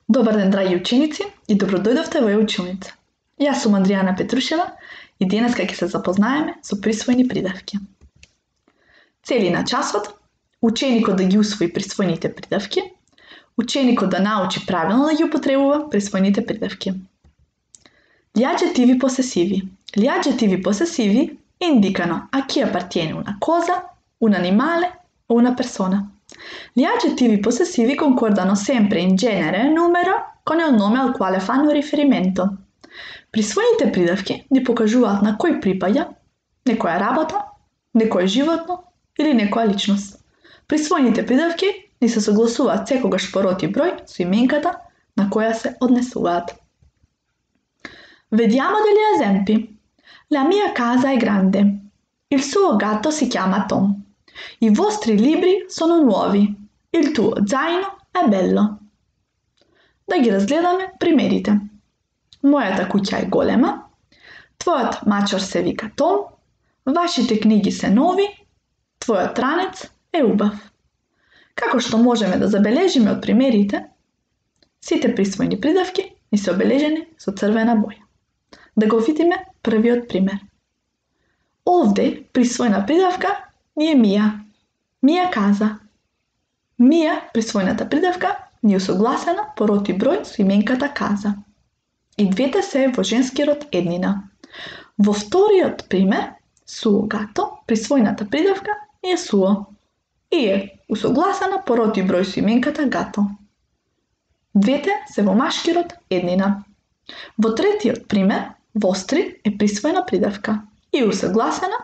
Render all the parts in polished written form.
Добар ден, драги ученици, и добродојдовте во училница. Јас сум Андријана Петрушева и денеска ќе се запознаеме со присвоени придавки. Цели на часот, ученикот да ги усвои присвоените придавки, ученикот да научи правилно да ги употребува присвоените придавки. Gli aggettivi possessivi. Gli aggettivi possessivi indicano a chi appartiene una cosa, un animale o una persona. Gli aggettivi possessivi concordano sempre in genere e numero con il nome al quale fanno riferimento. Присвоените придавки ни покажуваат на кој припаѓа некоја работа, некое животно или некоја личност. Присвоените придавки ни се согласуваат секогаш по род и број со именката на која се однесуваат. Vediamo degli esempi. La mia casa è grande. Il suo gatto si chiama Tom. I vostri libri sono nuovi. Il tuo zaino è bello. Да ги разгледаме примерите. Мојата куќа е голема. Твојот мачор се вика Том. Вашите книги се нови. Твојот ранец е убав. Како што можеме да забележиме од примерите, сите присвоени придавки ни се обележени со црвена боја. Да го видиме првиот пример. Овде присвоена придавка ни е Мија. Мија каза. Мија, присвоената придавка, ни е согласена по род и број со именката каза. И двете се во женски род еднина. Во вториот пример, суо гато, присвоената придавка е суо и е усогласена по род и број со именката гато. Двете се во машки род еднина. Во третиот пример, vostri е присвоена придавка и усогласена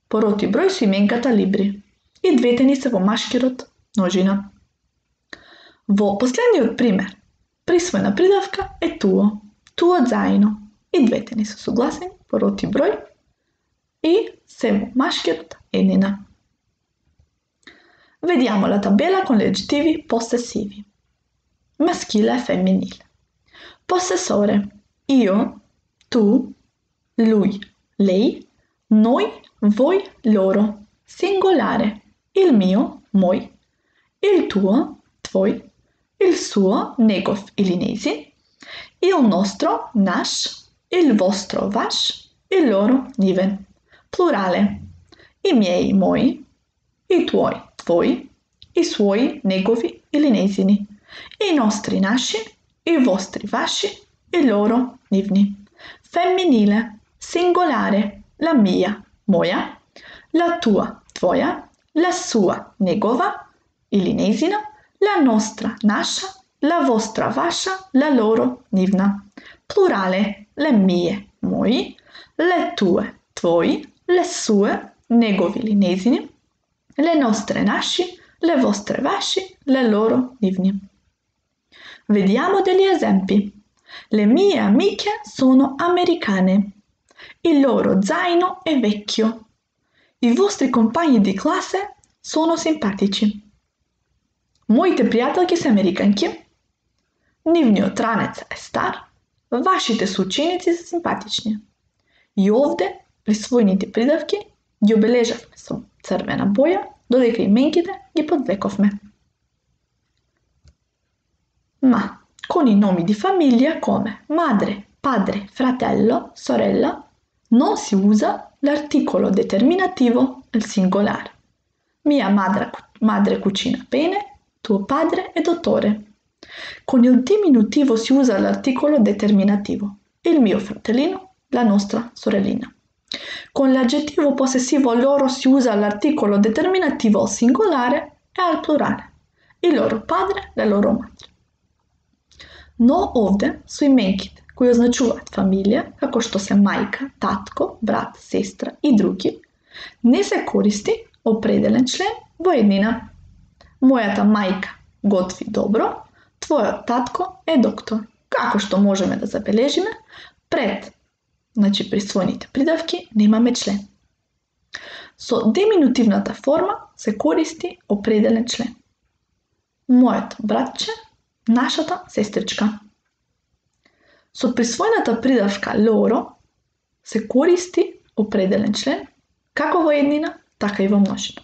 по род и број со именката libri. И двете ни се во машки род множина. Во последниот пример, присвоена придавка е tuo, tuo zaino. И двете ни се согласени по род и број и се во машки род еднина. Vediamo la tabella con gli aggettivi possessivi. Maschile e femminile. Possessore: io, tu, lui, lei, noi, voi, loro. Singolare: il mio, moj, il tuo, tvoj, il suo, negov ili njezin, il nostro, naš, il vostro, vaš, il loro, njiven. Plurale: i miei, moji, i tuoi, tvoji, i suoi, negovi ili njezini, i nostri, naši, i vostri, vaši, i loro, njivni. Femminile: singolare: la mia, moja, la tua, tvoja, la sua, negova ili njezina, la nostra, naša, la vostra, vaša, la loro, njivna. Plurale: le mie, moji, le tue, tvoji, le sue, negovi ili njezini, le nostre, naši, le vostre, vaši, le loro, njivni. Vediamo degli esempi. Le mie amiche sono americane. Il loro zaino è vecchio. I vostri compagni di classe sono simpatici. Моите пријателки се американки. Нивниот ранец е стар. Вашите соученици се симпатични. И овде присвоените придавки ги обележавме со црвена боја, додека именките ги подвековме. Ma con i nomi di famiglia come madre, padre, fratello, sorella non si usa l'articolo determinativo al singolare. Mia madre cucina bene, tuo padre è dottore. Con il diminutivo si usa l'articolo determinativo. Il mio fratellino, la nostra sorellina. Con l'aggettivo possessivo loro si usa l'articolo determinativo al singolare e al plurale. Il loro padre, la loro madre. Но овде со именките кои означуваат фамилија, како што се мајка, татко, брат, сестра и други, не се користи определен член во еднина. Мојата мајка готви добро, твојот татко е доктор. Како што можеме да забележиме, пред присвоените придавки немаме член. Со деминутивната форма се користи определен член. Мојот братче, нашата сестричка. Со присвоената придавка loro се користи определен член, како во еднина, така и во множина.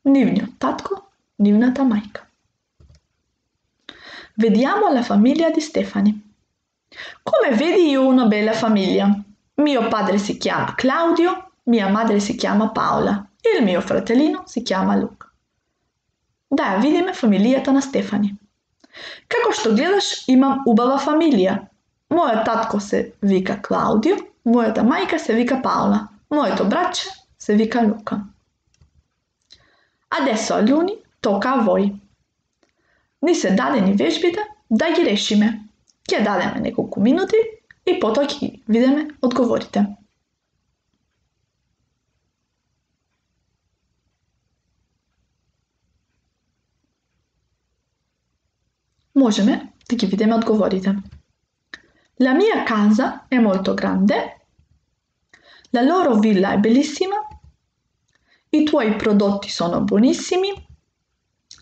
Нивниот татко, нивната мајка. Vediamo la famiglia di Stefani. Come vedi, io ho una bella famiglia. Mio padre si chiama Claudio, mia madre si chiama Paola e il mio fratellino si chiama Luka. Да, видиме фамилијата на Стефани. Како што гледаш, имам убава фамилија. Мојот татко се вика Клаудио, мојата мајка се вика Paola, моето братче се вика Luca. Adesso alunni tocca a voi. Ни се дадени вежбите да ги решиме. Ќе дадеме неколку минути и потоа ќе видиме одговорите. Можеме да ги видиме одговорите. La mia casa è molto grande. La loro villa è bellissima. I tuoi prodotti sono buonissimi.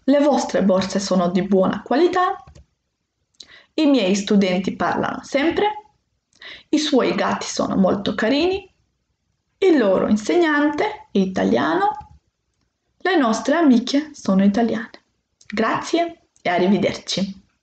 Le vostre borse sono di buona qualità. I miei studenti parlano sempre. I suoi gatti sono molto carini. Il loro insegnante è italiano. Le nostre amiche sono italiane. Grazie e arrivederci.